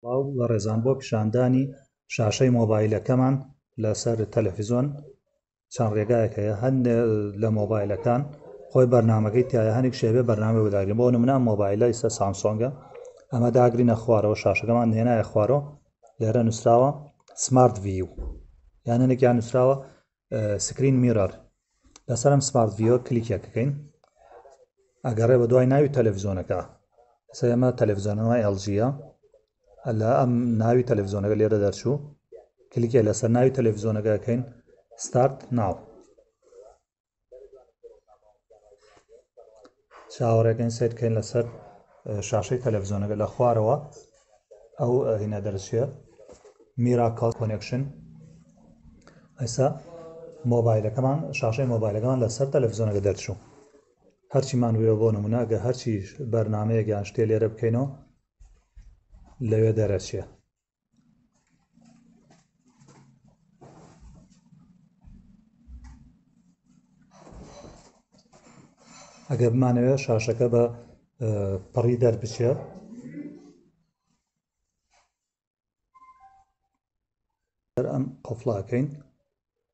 سڵاو بەڕێزان بۆ پیشاندانی شاشەی مۆبایلەکەمان لەسەر تەلەفیزۆن چەند ڕێگایەک هەیە هەندێ لە مۆبایلەکان خۆی بەرنمەکەی تایە هەنێک شێبێ بەرنامە بۆ داگرین بۆ نمونە مۆبایلە ئیستا سامسۆنگە ئەمە داگرینە خوارەوە شاشەکەمان هێنایە خوارەوە لێرە نووسراوە smart view یان هەنێکیان نووسراوە screen mirror لەسەرم smart view کلیکێکەکەین ئەگەڕێ بە دوای ناوی تەلەڤزیۆنەکە ئێستا ئێمە تەلەڤزیۆنەوە LG یە لە ئەم ناوی تەلەڤزیۆنەکە لێرە دەرچوو کلیکێ لەسەر ناوی تەلەڤزیۆنەکە ئەکەین start now چاوەڕێکەین سیرکەین لەسەر شاشەی تەلەڤزیۆنەکە لە خوارەوە ئەو هینە دەرچێ Miracast connection ئێستا مۆبایلەکەمان شاشەی مۆبایلەکەمان لەسەر تەلەڤزیۆنەکە دەرچوو هەرچیمان وێ بۆ نمونە ئەگە هەرچی بەرنمەیەک یان شتێ لێرە بکەینەوە لەوێ دەرەچێ ئەگەر بمانەوێت شاشەکە بە پڕی دەربچێت ئەم قفڵاکەین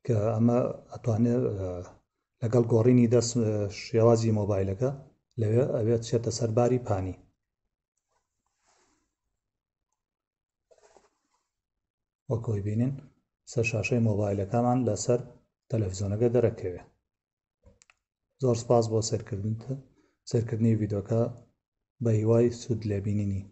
کە ئەمە ئەتوانێت لەگەڵ گۆڕینی دەست شێوازی مۆبایلەکە لەوێ ئەوێت چێتە سەر باری پانی وەکۆی بینین سەر شاشەی مۆبایلەکەمان لەسەر تەلەفزیۆنەکە دەرەکەوێ زۆر سپاس بۆ سەرکردن سەرکردنی ڤیدۆکە بە هیوای سوود لێبینینی.